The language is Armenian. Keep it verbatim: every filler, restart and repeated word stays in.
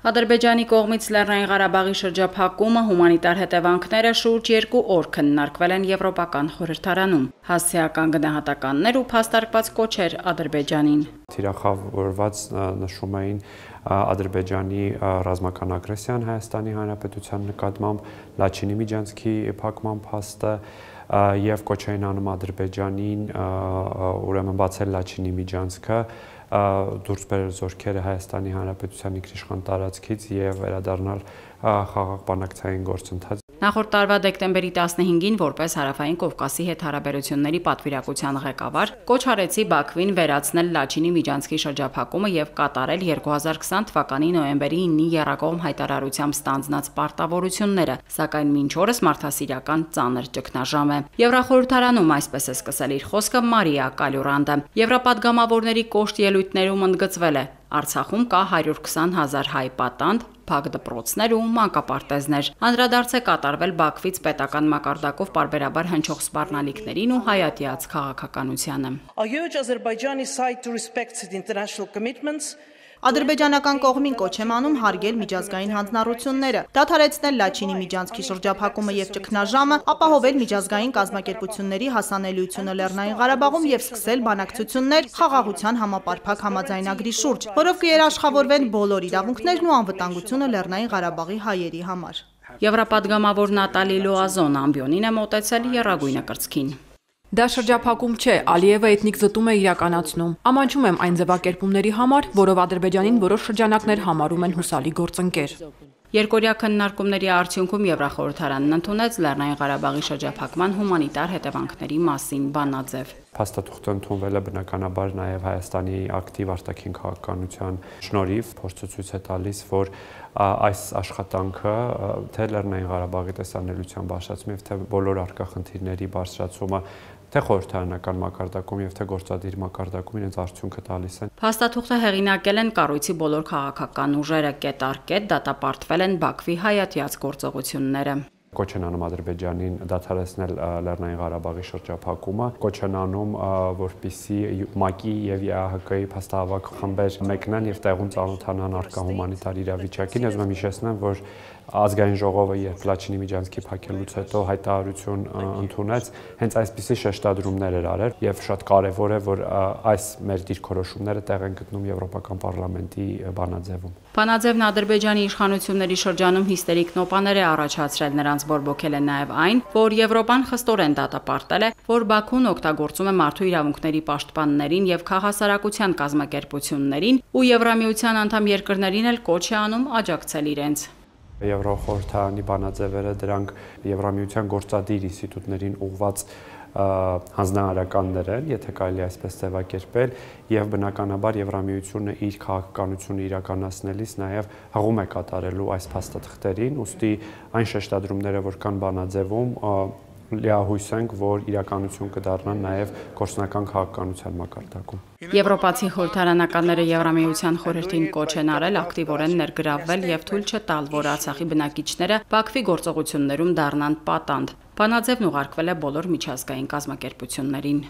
Ադրբեջանի կողմից Լեռնային Ղարաբաղի շրջափակումը հումանիտար հետևանքները շուրջ երկու օր քննարկվել են Եվրոպական խորհրդարանում, հասցեական գնահատականներ ու փաստարկված կոչեր Ադրբեջանին։ Թիրախավորված նշում էին Ադրբեջանի ռազմական ագրեսիան Հայաստանի Հանրապետության նկատմամբ, Լաչինի միջանցքի փակման փաստը եւ կոչ էին անում Ադրբեջանին ուրեմն բացել Լաչինի միջանցքը, դուրս բերել զորքերը Հայաստանի Հանրապետության ինքնիշխան տարածքից եւ վերադառնալ խաղաղ բանակցային գործընթաց։ Նախորդ տարվա դեկտեմբերի տասնհինգին որպես Հարավային Կովկասի հետ հարաբերությունների պատվիրակության ղեկավար կոչ արեցի Բաքվին վերացնել Լաչինի միջանցքի շրջափակումը եւ կատարել երկու հազար քսան թվականի նոյեմբերի ինի եռակողմ հայտարարությամբ ստանձնած պարտավորությունները, սակայն մինչ օրս մարդասիրական ծանր ճգնաժամ է։ Եվրախորհրդարանում այսպես է սկսել իր խոսքը Մարիա Կալյուրանդը։ Եվրապատգամավորների կոշտ ելույթներում ընդգծվել է. Արցախում կա հարյուր քսան հազար հայ պատանդ, փակ դպրոցներ ու մանկապարտեզներ։ Անդրադարձ է կատարվել Բաքվից պետական մակարդակով պարբերաբար հնչող սպառնալիքներին ու հայատյաց քաղաքականությանը։ Ադրբեջանական կողմին կոչ եմ անում հարգել միջազգային հանձնառությունները, դադարեցնել Լաչինի միջանցքի շրջափակումը եւ ճգնաժամը, ապահովել միջազգային կազմակերպությունների հասանելիությունը Լեռնային Ղարաբաղում եւ սկսել բանակցություններ խաղաղության համապարփակ համաձայնագրի շուրջ, որով կերաշխավորվեն բոլոր իրավունքներն ու անվտանգությունը Լեռնային Ղարաբաղի հայերի համար։ Եվրապատգամավոր Նատալի Լոազոն ամբիոնին է մոտեցել եռագույնը կրծքին։ Դա շրջափակում չէ, Ալիևը էթնիկ զտում է իրականացնում։ Ամանչում եմ այն ձևակերպումների համար, որով Ադրբեջանին որոշ շրջանակներ համարում են հուսալի գործընկեր։ Երկօրյա քննարկումների արդյունքում Եվրախորհրդարանն ընդունեց Լեռնային Ղարաբաղի շրջափակման հումանիտար հետևանքների մասին բանաձև։ Փաստաթուղթը ընդունվել է բնականաբար նաև Հայաստանի ակտիվ արտաքին քաղաքականության շնորհիվ, փորձը ցույց է տալիս, որ այս աշխատանքը թե Լեռնային Ղարաբաղի տեսանելիության բարձրացումը եւ թե բոլոր առկա խնդիրների բարձրացումը թե խորհրդարանական մակարդակում եւ թե գործադիր մակարդակում իրենց արդյունքը տալիս են։ Փաստաթուղթը հեղինակել են կառույցի բոլոր քաղաքական ուժերը, կետ առ կետ դատապարտվել են Բաքվի հայատյաց գործողությունները։ Կոչ են անում Ադրբեջանին դադարեցնել Լեռնային Ղարաբաղի շրջափակումը, կոչ են անում, որպեսզի ՄԱԿ-ի եւ ԵԱՀԿ-ի փաստահավաք խմբեր մեկնեն եւ տեղում ծանոթանան առկա հումանիտար իրավիճակին։ Ես ուզում եմ հիշեցնել, որ ազգային ժողովը երբ Լաչինի միջանցքի փակելուց հետո հայտարարություն ընդունեց, հենց այսպիսի շեշտադրումներ էր արել եւ շատ կարեւոր է, որ այս մեր դիրքորոշումները տեղ են գտնում Եվրոպական պարլամենտի բանաձևում։ Բանաձևն Ադրբեջանի իշխանությունների շրջանում հիստերիկ նոպաներ է առաջացրել, նրանց բորբոքել է նաև այն, որ Եվրոպան խստորեն դատապարտել է, որ Բաքուն օգտագործում է մարդու իրավունքների պաշտպաններին եւ քաղաքասարակության կազմակերպություններին ու Եվրամիության անդամ երկրներին էլ կոչ է անում աջակցել իրենց։ Եվրոխորհրդարանի բանաձևերը դրանք Եվրամիության գործադիր ինստիտուտներին ուղղված հանձնարարականներ են, եթե կարելի այսպես ձևակերպել, եւ բնականաբար Եվրամիությունը իր քաղաքականությունը իրականացնելիս նաեւ հղում է կատարելու այս փաստաթղթերին, ուստի այն շեշտադրումները, որ կան բանաձևում, լիահույս ենք, որ իրականություն կդառնան նաև գործնական քաղաքականության մակարդակում։ Եվրոպացի խորհրդարանականները Եվրամիության խորհրդին կոչ են արել ակտիվորեն ներգրավվել եւ թույլ չտալ, որ Արցախի բնակիչները Բաքվի գործողություններում դառնան պատանդ։ Բանաձևն ուղարկվել է բոլոր միջազգային կազմակերպություններին։